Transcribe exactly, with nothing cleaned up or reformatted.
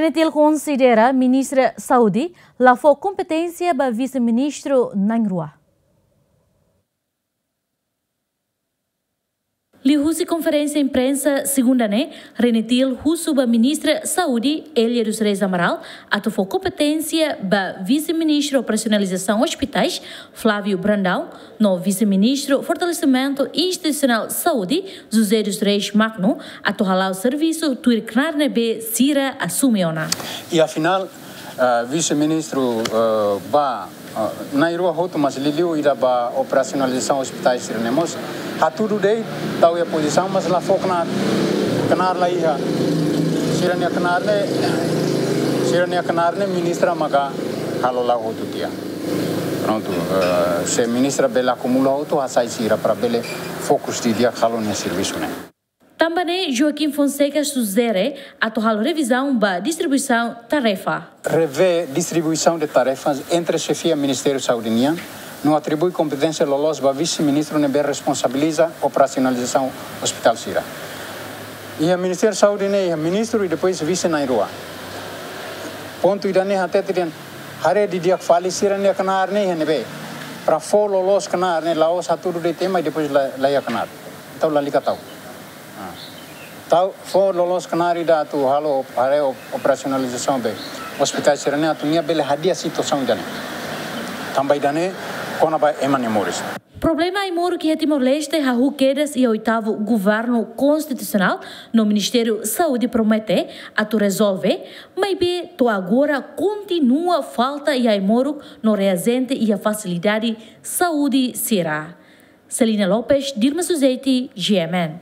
Renetil konsidera Ministra Saúde la fó kompeténsia ba Vise-Ministru na'in-rua. Liuhusi konferénsia imprensa segunda ne'e, Renetil husu ba Ministra Saúde, Elia dos Reis Amaral, atu fó kompeténsia ba Vise-Ministru Operasionalizasaun Ospitais, Flávio Brandão, no Vise-Ministru Fortalesimentu Institusionál Saúde, José dos Reis Magno, atu hala'o servisu tuir knaar ne'ebé sira asume ona. I afinál, eh, Vise-Ministru, eh, ba, eh, na'in-rua hotu, mas liuliu ida ba operasionalizasaun ospitais sira-ne'e mós hatudu de'it, tau iha pozisaun, mas la fó knaar, knaar la iha. Sira-nia knaar ne'e, sira-nia knaar ne'e ministra maka halo la'o hotu tiha. Prontu, eh, se ministra bele akumula hotu, hasai sira para bele fokus didi'ak halo nia servisu ne'e. Tanba ne'e, Joaquim Fonseca sujere atu halo revizaun ba distribuisaun tarefa. Revee distribuição de tarefas entre xefia Ministériu Saúde nian, no atribui kompeténsia loloos ba vise-ministru ne'ebé responsabiliza operasionalizasaun ospitál sira. Iha Ministériu Saúde ne'e iha ministru i depois vise na'in-rua. Pontu ida-ne'e hatete dehan haree didi'ak fali sira-nia knaar ne'e iha ne'ebé. Para fó loloos knaar ne'e la'ós hatudu de'it ema i depois la, la iha knaar. Entaun lalika tau. Ah. Tau, fó loloos knaar ida atu halo op-, haree op-, operasionalizasaun ba ospitais sira-ne'e atu nia bele hadi'a situasaun ida-ne'e. Tanba ida-ne'e kona-ba ema nia moris. Problema ai-moruk iha Timor-Leste hahú kedas iha oitavu Governu Konstitusionál no Ministériu Saúde promete atu rezolve, maibé to'o agora kontinua falta iha ai-moruk no reajente iha fasilidade saúde sira. Celina Lopes, Dilma Suzeti, G M N.